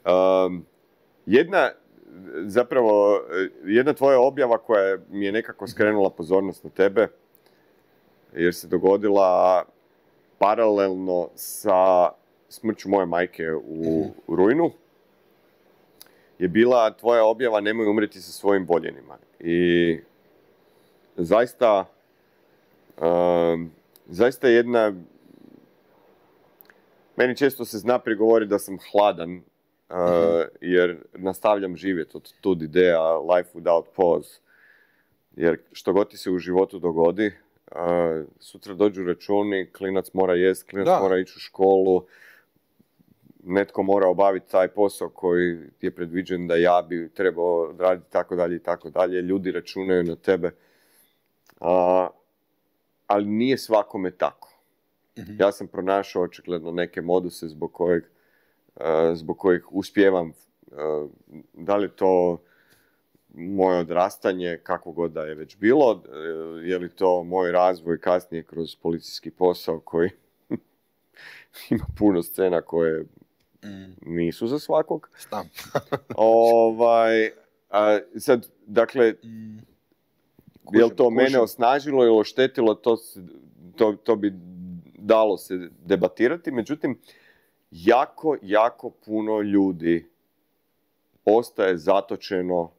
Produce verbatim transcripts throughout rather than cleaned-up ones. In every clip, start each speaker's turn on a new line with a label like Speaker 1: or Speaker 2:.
Speaker 1: Um, jedna, zapravo, jedna tvoja objava koja mi je nekako skrenula pozornost na tebe, jer se dogodila paralelno sa smrću moje majke u, u rujnu, je bila tvoja objava nemoj umreti sa svojim voljenima. I zaista, um, zaista jedna, meni često se zna prigovoriti da sam hladan, uh, jer nastavljam živjeti od tud ideja life without pause. Jer što god ti se u životu dogodi, uh, sutra dođu računi, klinac mora jest, klinac da. mora ići u školu, netko mora obaviti taj posao koji je predviđen da ja bi trebao raditi tako dalje i tako dalje. Ljudi računaju na tebe. Uh, ali nije svakome tako. Mm-hmm. Ja sam pronašao očigledno neke moduse zbog kojeg, uh, zbog kojeg uspijevam. Uh, da li to moje odrastanje, kako god da je već bilo, uh, je li to moj razvoj kasnije kroz policijski posao koji ima puno scena koje mm. nisu za svakog.
Speaker 2: Stam.
Speaker 1: ovaj, a, sad, dakle, mm. je li to kužem. mene osnažilo ili oštetilo, to, to, to bi dalo se debatirati. Međutim, jako, jako puno ljudi ostaje zatočeno,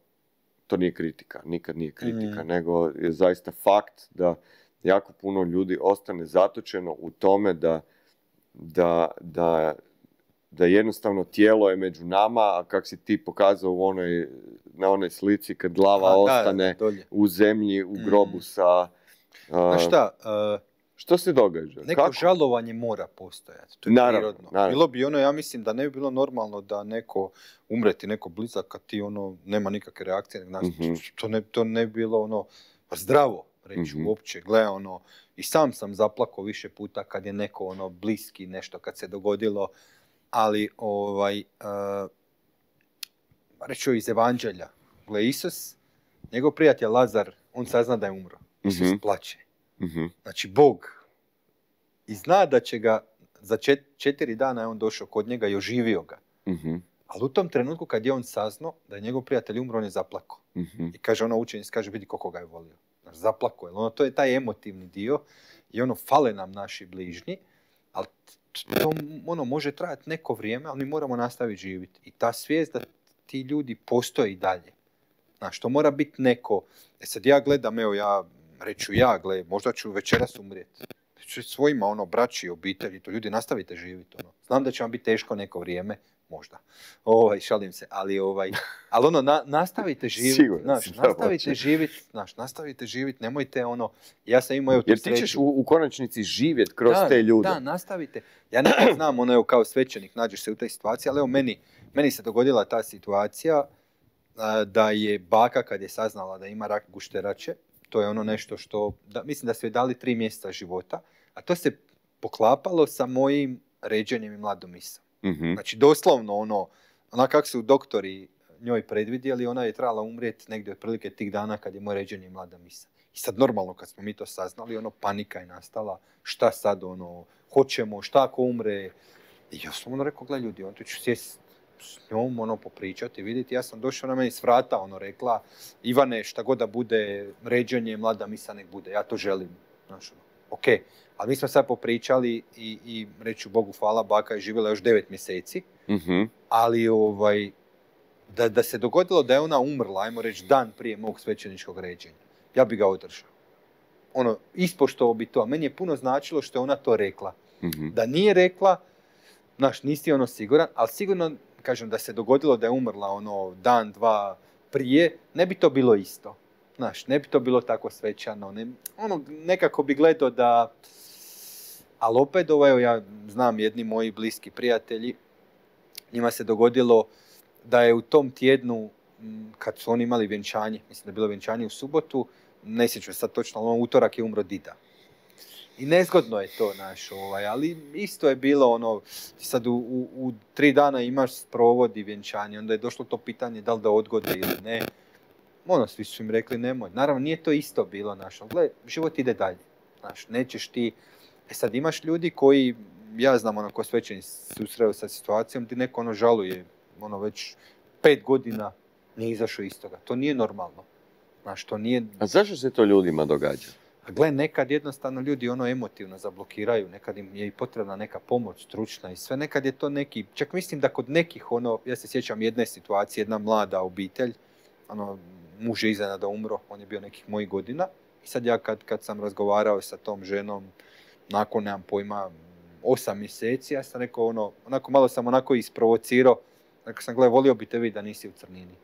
Speaker 1: to nije kritika, nikad nije kritika, mm. nego je zaista fakt da jako puno ljudi ostane zatočeno u tome da, da, da, da jednostavno tijelo je među nama, a kak si ti pokazao u onoj, na onoj slici kad glava a, ostane da, u zemlji, u grobu mm. sa... Uh,
Speaker 2: a šta? Uh...
Speaker 1: Što se događa?
Speaker 2: Neko Kako? žalovanje mora postojati. To je
Speaker 1: naravno,
Speaker 2: prirodno.
Speaker 1: Naravno.
Speaker 2: Bilo bi ono, ja mislim da ne bi bilo normalno da neko umreti, neko blizak, kad ti ono, nema nikakve reakcije. Znači, mm-hmm. to, ne, to ne bi bilo ono zdravo reći mm-hmm. uopće. Gle, ono, i sam sam zaplakao više puta kad je neko ono bliski nešto kad se dogodilo. Ali, ovaj, uh, reću iz Evanđelja. Gle, Isus, njegov prijatelj Lazar, on sazna da je umro. Isus mm-hmm. plače. Mm-hmm. Znači, Bog i zna da će ga za čet, četiri dana je on došao kod njega i oživio ga. Mm-hmm. Ali u tom trenutku kad je on saznao da je njegov prijatelj umro, on je zaplakao. Mm-hmm. I kaže ono učenic, kaže vidi koliko ga je volio. Znači, zaplakao je. Ono, to je taj emotivni dio i ono, fale nam naši bližnji, ali to ono, može trajati neko vrijeme, ali mi moramo nastaviti živjeti. I ta svijest da ti ljudi postoje i dalje. Znači, to mora biti neko. E sad ja gledam, evo ja reću ja, gle, možda ću večeras umrijeti. Ću svojima, ono, braći, obitelji, to ljudi nastavite živjeti, ono. Znam da će vam biti teško neko vrijeme, možda. Ovaj, šalim se, ali ovaj, ali ono, na, nastavite živjeti, znaš, nastavite živjeti, znaš, nastavite živjeti, nemojte ono, ja sam imao, evo tu
Speaker 1: jer ti ćeš u, u konačnici živjeti kroz
Speaker 2: da,
Speaker 1: te ljude.
Speaker 2: Da, nastavite. Ja nekad znam, ono, evo, kao svećenik, nađeš se u tej situaciji, ali evo, meni, meni se dogodila ta situacija a, da je baka, kad je saznala da ima rak gušterače, to je ono nešto što, da, mislim da su joj dali tri mjeseca života, a to se poklapalo sa mojim ređenjem i mladom misom. Mm-hmm. Znači, doslovno ono, ona kako su doktori njoj predvidjeli, ona je trebala umrijeti negdje otprilike tih dana kad je moje ređenje i mlada misa. I sad normalno kad smo mi to saznali, ono, panika je nastala, šta sad, ono, hoćemo, šta ako umre. I ja sam ono rekao, gledaj ljudi, on tu ću sjest s njom, ono, popričati, vidjeti. Ja sam došao na meni s vrata, ono, rekla, Ivane, šta god da bude ređenje, mlada misa nek bude, ja to želim. Znaš, ono, ok, ali mi smo sad popričali i, i reću Bogu hvala, baka je živjela još devet mjeseci, mm-hmm. ali ovaj, da, da se dogodilo da je ona umrla, ajmo reći, dan prije mog svećeničkog ređenja, ja bi ga održao. Ono, ispoštovao bi to, a meni je puno značilo što je ona to rekla. Mm-hmm. Da nije rekla, znaš, nisi ono siguran, ali sigurno, kažem, da se dogodilo da je umrla ono dan, dva prije, ne bi to bilo isto. Znaš, ne bi to bilo tako svečano. Ne, ono, nekako bi gledao da... Ali opet, ovo, evo, ja znam jedni moji bliski prijatelji, njima se dogodilo da je u tom tjednu, kad su oni imali vjenčanje, mislim da je bilo vjenčanje u subotu, ne sjećam sad točno, ali ono, utorak je umro dida. I nezgodno je to, naš, ovaj, ali isto je bilo ono, ti sad u, u, u tri dana imaš sprovod i vjenčanje, onda je došlo to pitanje da li da odgode ili ne. Ono, svi su im rekli nemoj. Naravno, nije to isto bilo, naš, ali gledaj, život ide dalje. Znaš, nećeš ti... E sad imaš ljudi koji, ja znam ono ko svećeni susreo sa situacijom, ti neko ono žaluje ono već pet godina nije izašao iz toga. To nije normalno. Znaš, to nije...
Speaker 1: A zašto se to ljudima događa?
Speaker 2: Gle, nekad jednostavno ljudi ono emotivno zablokiraju, nekad im je i potrebna neka pomoć stručna i sve, nekad je to neki, čak mislim da kod nekih ono, ja se sjećam jedne situacije, jedna mlada obitelj, ono, muž je iznenada umro, on je bio nekih mojih godina i sad ja kad, kad sam razgovarao sa tom ženom, nakon, nemam pojma, osam mjeseci, ja sam rekao ono, onako malo sam onako isprovocirao, rekao sam, gle, volio bi te vidjeti da nisi u crnini.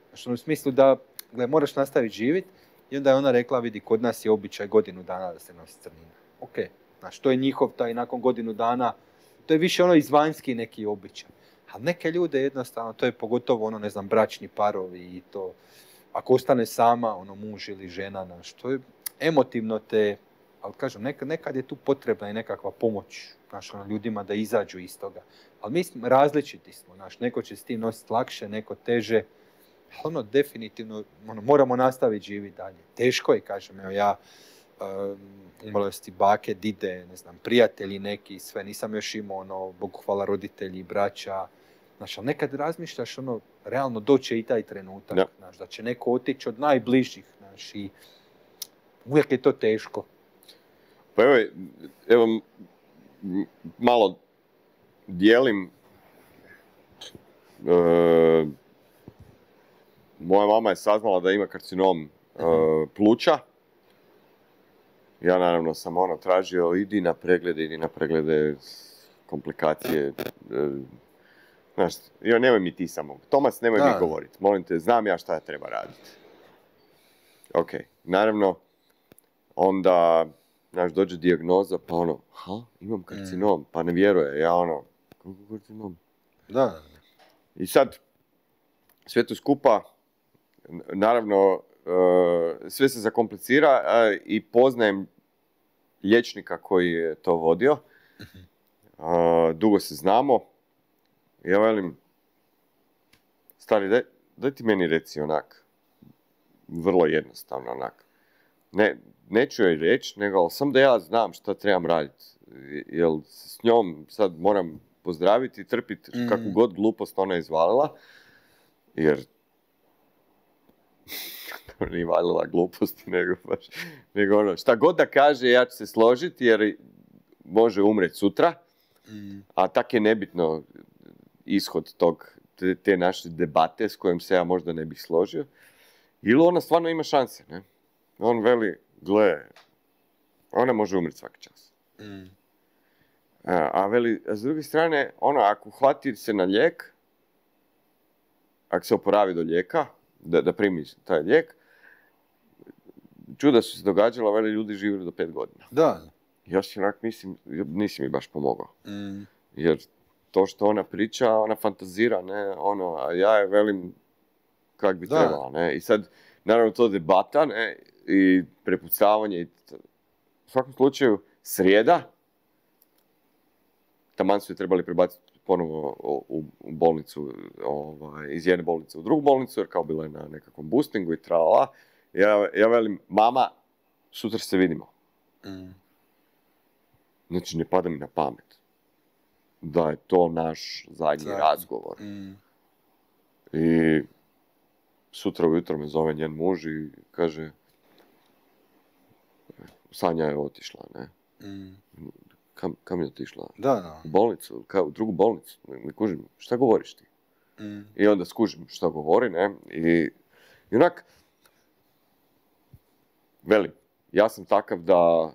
Speaker 2: Znači, u smislu da, gle, moraš nastaviti živjeti. I onda je ona rekla, vidi, kod nas je običaj godinu dana da se nosi crnina. Ok, znači, to je njihov taj nakon godinu dana, to je više ono izvanjski neki običaj. Ali neke ljude jednostavno, to je pogotovo ono, ne znam, bračni parovi i to, ako ostane sama, ono, muž ili žena, znaš, to je emotivno te, ali kažem, nekad, nekad je tu potrebna i nekakva pomoć, znaš, ono, ljudima da izađu iz toga. Ali mi smo različiti smo, znaš, neko će s tim nositi lakše, neko teže. Ono, definitivno, ono, moramo nastaviti živjeti dalje. Teško je, kažem, evo ja, um, umrlosti bake, dide, ne znam, prijatelji neki, sve, nisam još imao, ono, Bogu hvala, roditelji, braća, znaš, ali nekad razmišljaš, ono, realno doće i taj trenutak,
Speaker 1: ja.
Speaker 2: Znaš, da će neko otići od najbližih, znaš, i uvijek je to teško.
Speaker 1: Pa evo, evo malo dijelim, e, moja mama je saznala da ima karcinom uh, pluća. Ja naravno sam ono tražio, idi na preglede, idi na preglede, komplikacije. Uh, znaš, jo, nemoj mi ti samo. Tomas, nemoj
Speaker 2: da.
Speaker 1: mi govoriti. Molim te, znam ja šta treba raditi. Ok, naravno, onda, znaš, dođe dijagnoza, pa ono, ha, imam karcinom, mm. pa ne vjeruje. Ja ono, kako karcinom?
Speaker 2: Da.
Speaker 1: I sad, sve to skupa, naravno, sve se zakomplicira i poznajem liječnika koji je to vodio. Dugo se znamo. Ja velim, stari, daj, daj ti meni reci onak, vrlo jednostavno onak. Ne, neću joj reći, nego sam da ja znam šta trebam raditi. Jer s njom sad moram pozdraviti i trpiti mm. kakvu god glupost ona izvalila. Jer nije valila gluposti, nego baš, nego ono, šta god da kaže, ja ću se složiti, jer može umreti sutra, mm. a tak je nebitno ishod tog, te, te naše debate s kojim se ja možda ne bih složio, ili ona stvarno ima šanse, ne? On veli, gle, ona može umreti svaki čas. Mm. A, a veli, a s druge strane, ono, ako hvati se na lijek, ako se oporavi do lijeka, da, da primi taj lijek, čuda su se događala, veli, ljudi živjeli do pet godina.
Speaker 2: Da.
Speaker 1: Ja si onak mislim, nisi mi baš pomogao.
Speaker 2: Mm.
Speaker 1: Jer to što ona priča, ona fantazira, ne, ono, a ja je velim kak bi da. trebala, ne. I sad, naravno, to debata, ne, i prepucavanje. I t- u svakom slučaju, srijeda, taman su je trebali prebaciti ponovo u, u, u bolnicu, ovaj, iz jedne bolnice u drugu bolnicu, jer kao bila je na nekakvom boostingu i trala. Ja, ja velim, mama, sutra se vidimo. Mm. Znači, ne pada mi na pamet da je to naš zadnji Zadnji. razgovor. Mm. I sutra ujutro me zove njen muž i kaže, Sanja je otišla, ne? Mm. Kam, kam je otišla?
Speaker 2: Da, da.
Speaker 1: U bolnicu, ka, u drugu bolnicu. Ne, ne kužim, šta govoriš ti? Mm. I onda skužim šta govori, ne? I, i onak, velim, ja sam takav da,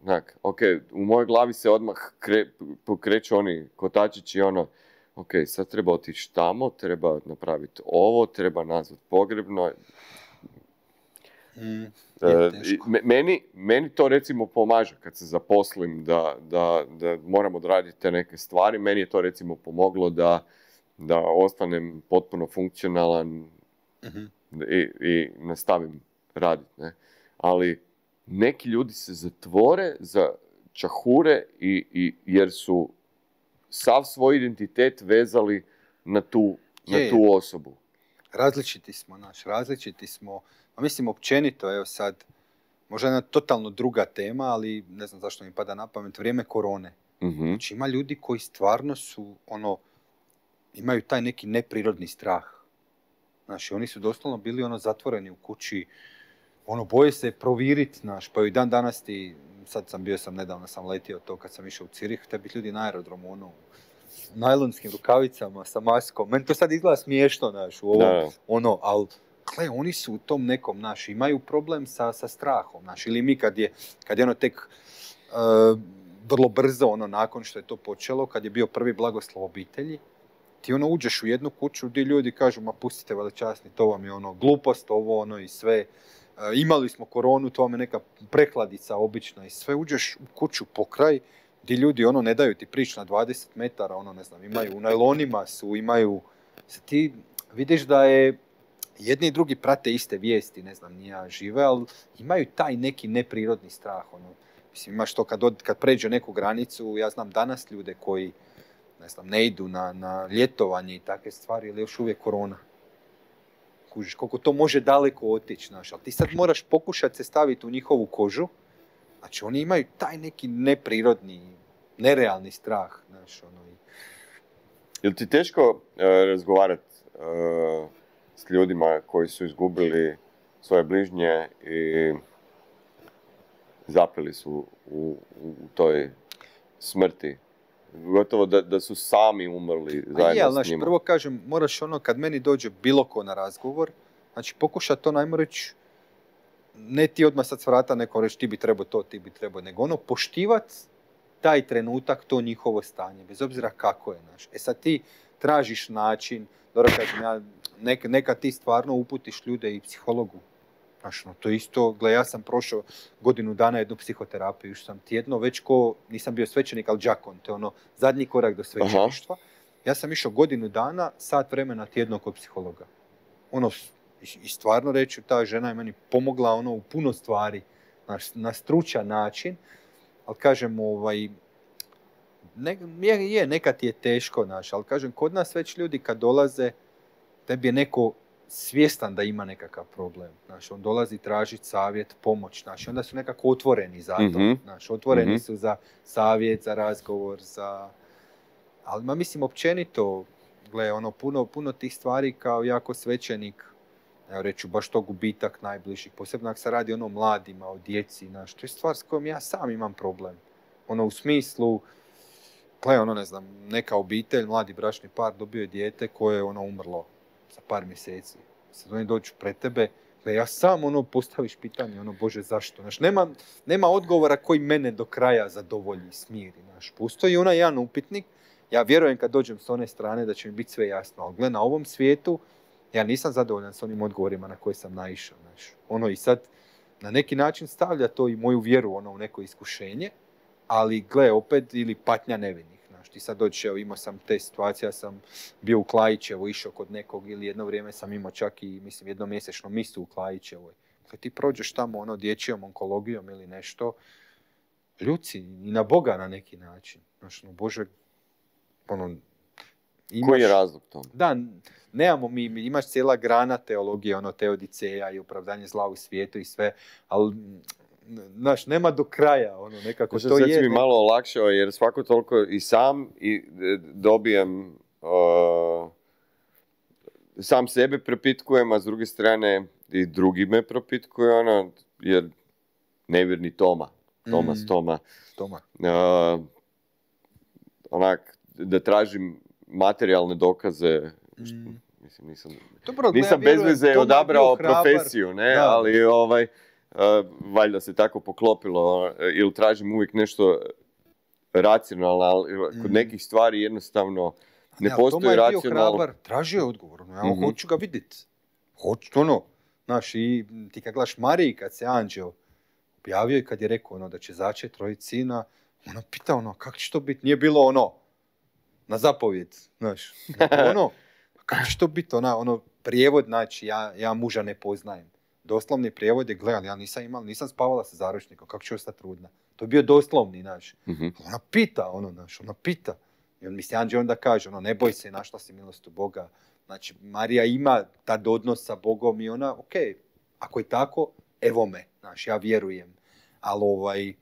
Speaker 1: onak, ok, u mojoj glavi se odmah kre, pokreću oni kotačići, ono, ok, sad treba otići tamo, treba napraviti ovo, treba nazvati pogrebno.
Speaker 2: Mm,
Speaker 1: e, meni, meni to recimo pomaže kad se zaposlim da, da, da moram odraditi te neke stvari. Meni je to recimo pomoglo da, da ostanem potpuno funkcionalan mm-hmm. i, i nastavim raditi. Ne? Ali neki ljudi se zatvore za čahure i, i, jer su sav svoj identitet vezali na tu, je, na tu osobu.
Speaker 2: Različiti smo, naš, različiti smo. A mislim, općenito, evo sad, možda jedna totalno druga tema, ali ne znam zašto mi pada na pamet, vrijeme korone.
Speaker 1: Mm-hmm.
Speaker 2: Znači, ima ljudi koji stvarno su, ono, imaju taj neki neprirodni strah. Znaš, oni su doslovno bili ono zatvoreni u kući, ono, boje se proviriti, znaš, pa i dan danas ti, sad sam bio sam, nedavno sam letio to kad sam išao u Cirih, te biti ljudi na aerodromu, ono, u najlonskim rukavicama sa maskom. Meni to sad izgleda smiješno, znaš, u ovom,
Speaker 1: Da.
Speaker 2: ono, ali, gle, oni su u tom nekom, znaš, imaju problem sa, sa strahom, znaš, ili mi kad je, kad je ono tek uh, vrlo brzo, ono, nakon što je to počelo, kad je bio prvi blagoslov obitelji, ti ono uđeš u jednu kuću gdje ljudi kažu, ma pustite velečasni, to vam je ono glupost, ovo ono i sve. E, imali smo koronu, to vam je neka prekladica obična i sve. Uđeš u kuću pokraj gdje ljudi ono ne daju ti prići na dvadeset metara, ono ne znam, imaju u najlonima su, imaju... Ti vidiš da je jedni i drugi prate iste vijesti, ne znam, nija žive, ali imaju taj neki neprirodni strah. Ono. Mislim, imaš to kad, od, kad pređe neku granicu, ja znam danas ljude koji ne znam, ne idu na, na ljetovanje i takve stvari, ili još uvijek korona. Kužiš, koliko to može daleko otići, znaš, ali ti sad moraš pokušati se staviti u njihovu kožu, znači oni imaju taj neki neprirodni, nerealni strah, znaš, ono.
Speaker 1: Je li ti teško uh, razgovarati uh, s ljudima koji su izgubili svoje bližnje i zapeli su u, u toj smrti? Gotovo da, da su sami umrli zajedno
Speaker 2: je,
Speaker 1: s
Speaker 2: znaš,
Speaker 1: njima.
Speaker 2: prvo kažem, moraš ono, kad meni dođe bilo ko na razgovor, znači pokušati to, najmo reći, ne ti odmah sad s vrata neko reći ti bi trebao to, ti bi trebao, nego ono, poštivati taj trenutak, to njihovo stanje, bez obzira kako je, znaš. E sad ti tražiš način, dobro kažem, ja, nek, neka ti stvarno uputiš ljude i psihologu. Znaš, no, to isto, gle, ja sam prošao godinu dana jednu psihoterapiju, što sam tjedno, već ko, nisam bio svećenik, ali džakon, to je ono, zadnji korak do svećeništva. Aha. Ja sam išao godinu dana, sat vremena tjedno kod psihologa. Ono, i stvarno reći, ta žena je meni pomogla ono u puno stvari, znaš, na stručan način, ali kažem, ovaj, ne, je, je, nekad je teško, znaš, ali kažem, kod nas već ljudi kad dolaze, tebi je neko svjestan da ima nekakav problem. Znaš, on dolazi tražiti savjet, pomoć. Znaš, onda su nekako otvoreni za to. Mm-hmm. Znaš, otvoreni mm-hmm. su za savjet, za razgovor, za... Ali, ma mislim, općenito, gle, ono, puno, puno tih stvari kao jako svećenik, evo reću, baš to gubitak najbližih. Posebno ako se radi ono mladima, o djeci, znaš, to je stvar s kojom ja sam imam problem. Ono, u smislu, gle, ono, ne znam, neka obitelj, mladi bračni par dobio je dijete koje je ono umrlo za par mjeseci. Sad oni dođu pred tebe, da ja sam ono postaviš pitanje, ono, Bože, zašto? Znaš, nema, nema odgovora koji mene do kraja zadovolji, smiri. Znaš, postoji onaj jedan upitnik, ja vjerujem kad dođem s one strane da će mi biti sve jasno, ali gle, na ovom svijetu ja nisam zadovoljan s onim odgovorima na koje sam naišao. Znaš. Ono, i sad na neki način stavlja to i moju vjeru ono, u neko iskušenje, ali gle, opet, ili patnja nevinih. Znaš, ti sad dođeš, evo, imao sam te situacije, ja sam bio u Klajićevo, išao kod nekog, ili jedno vrijeme sam imao čak i, mislim, jednomjesečno misu u Klajićevoj. Kad ti prođeš tamo, ono, dječjom onkologijom ili nešto, ljuci i na Boga na neki način. Znaš, no, Bože, ono, imaš... Koji
Speaker 1: je razlog to?
Speaker 2: Da, nemamo mi, imaš cijela grana teologije, ono, teodiceja i opravdanje zla u svijetu i sve, ali... Znaš, nema do kraja, ono, nekako
Speaker 1: Možda
Speaker 2: to je...
Speaker 1: Možda mi malo olakšao, jer svako toliko i sam i dobijem, uh, sam sebe propitkujem, a s druge strane i drugi me propitkuju, ono, jer nevjerni Toma, Tomas, mm. Toma,
Speaker 2: Toma.
Speaker 1: Uh, onak, da tražim materijalne dokaze, mm. mislim, nisam,
Speaker 2: Dobro,
Speaker 1: nisam bez veze odabrao profesiju, ne, da. ali ovaj... Uh, valjda se tako poklopilo, uh, ili tražim uvijek nešto racionalno, ali kod mm. nekih stvari jednostavno ne, ne postoji racionalno. Toma je bio hrabar,
Speaker 2: tražio je odgovor, no, ja mm-hmm. hoću ga vidjeti. Hoću, ono, znaš, i ti kad gledaš Mariji, kad se anđeo objavio i kad je rekao ono, da će začeti roditi sina, ono pita ono, kako će to biti? Nije bilo ono, na zapovjed, znaš, ono, kako će to biti? Ona, ono, prijevod, znači, ja, ja muža ne poznajem. Doslovni prijevod je, gledali, ja nisam imala, nisam spavala sa zaručnikom, kako ću ostati trudna. To je bio doslovni, znaš. Mm-hmm. Ona pita, ono, znaš, ona pita. I on misli, anđeo onda kaže, ono, ne boj se, našla si milost u Boga. Znači, Marija ima tad odnos sa Bogom i ona, ok, ako je tako, evo me, znaš, ja vjerujem. Ali, ovaj,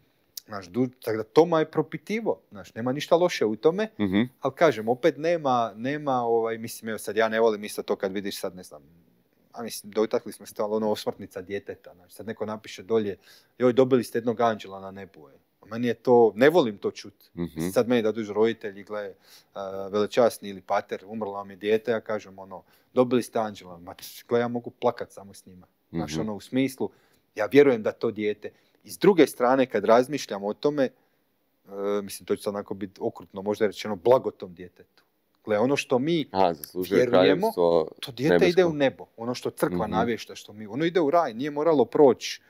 Speaker 2: Znaš, du, tako da Toma je propitivo, znaš, nema ništa loše u tome,
Speaker 1: mm-hmm.
Speaker 2: ali kažem, opet nema, nema ovaj, mislim, evo sad ja ne volim isto to kad vidiš sad, ne znam, a mislim, dotakli smo se ono osmrtnica djeteta, znači sad neko napiše dolje, joj, dobili ste jednog anđela na nebu, je. Meni je to, ne volim to čuti. Mm-hmm. Sad meni da dođu roditelji, gle, uh, velečasni ili pater, umrlo vam je dijete, ja kažem, ono, dobili ste anđela, ma, gle, ja mogu plakat samo s njima. Mm-hmm. Znaš, ono, u smislu, ja vjerujem da to dijete. I s druge strane, kad razmišljam o tome, uh, mislim, to će sad onako biti okrutno, možda je rečeno, blago tom djetetu. Gle, ono što mi
Speaker 1: A,
Speaker 2: vjerujemo, to dijete
Speaker 1: nebesko.
Speaker 2: Ide u nebo. Ono što crkva
Speaker 1: mm-hmm.
Speaker 2: navješta, što mi, ono ide u raj, nije moralo proći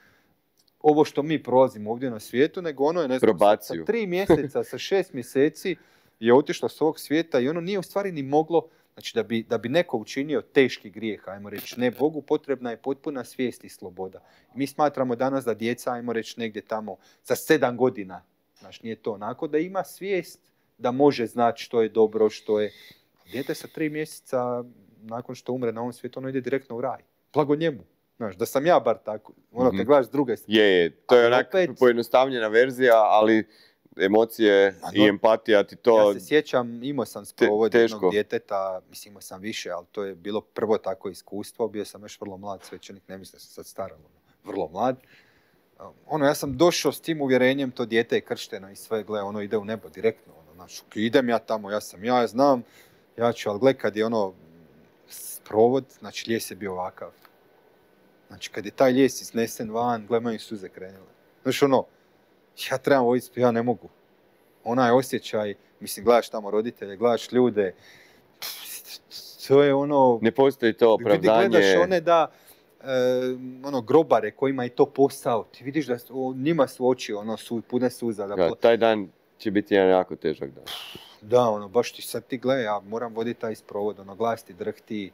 Speaker 2: ovo što mi prolazimo ovdje na svijetu, nego ono je, ne znam, sa, sa tri mjeseca, sa šest mjeseci je otišlo s ovog svijeta i ono nije u stvari ni moglo, znači da bi, da bi neko učinio teški grijeh, ajmo reći, ne, Bogu potrebna je potpuna svijest i sloboda. Mi smatramo danas da djeca, ajmo reći, negdje tamo za sedam godina, znači nije to onako, da ima svijest da može znati što je dobro, što je... Dijete sa tri mjeseca, nakon što umre na ovom svijetu, ono ide direktno u raj. Blago njemu. Znaš, da sam ja bar tako, ono, kad gledaš s druge strane.
Speaker 1: Je, je, to je onak opet pojednostavljena verzija, ali emocije no, i empatija ti to...
Speaker 2: Ja se sjećam, imao sam sprovod te, jednog djeteta, mislim imao sam više, ali to je bilo prvo tako iskustvo, bio sam još vrlo mlad svećenik, ne mislim da sam sad staran, vrlo mlad. Ono, ja sam došao s tim uvjerenjem, to dijete je kršteno i sve, gle, ono ide u nebo direktno, ono, znači, idem ja tamo, ja sam, ja znam, ja ću, ali gle, kad je ono sprovod, znači, lijes je bio ovakav. Znači, kad je taj lijes iznesen van, gle, meni suze krenule. Znači, ono, ja trebam voditi, ja ne mogu. Onaj osjećaj, mislim, gledaš tamo roditelje, gledaš ljude, to je ono...
Speaker 1: Ne postoji to opravdanje.
Speaker 2: Gledaš one da, e, ono, grobare kojima je to posao, ti vidiš da o, njima su oči, ono, su pune suza. Da,
Speaker 1: ja, taj dan će biti jedan jako težak dan.
Speaker 2: Da, ono, baš ti sad ti gledaj, ja moram voditi taj sprovod, ono, glas ti drhti,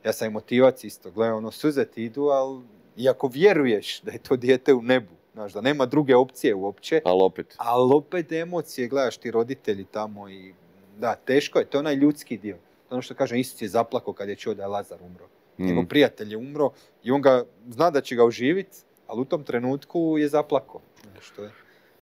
Speaker 2: ja sam i motivac isto, gledaj, ono, suze ti idu, ali iako vjeruješ da je to dijete u nebu, znaš, da nema druge opcije uopće,
Speaker 1: ali opet,
Speaker 2: ali opet emocije, gledaš ti roditelji tamo i da, teško je, to je onaj ljudski dio. Ono što kažem, Isus je zaplakao kad je čuo da je Lazar umro. Mm. Njegov prijatelj je umro i on ga zna da će ga oživiti, ali u tom trenutku je zaplakao. Što je?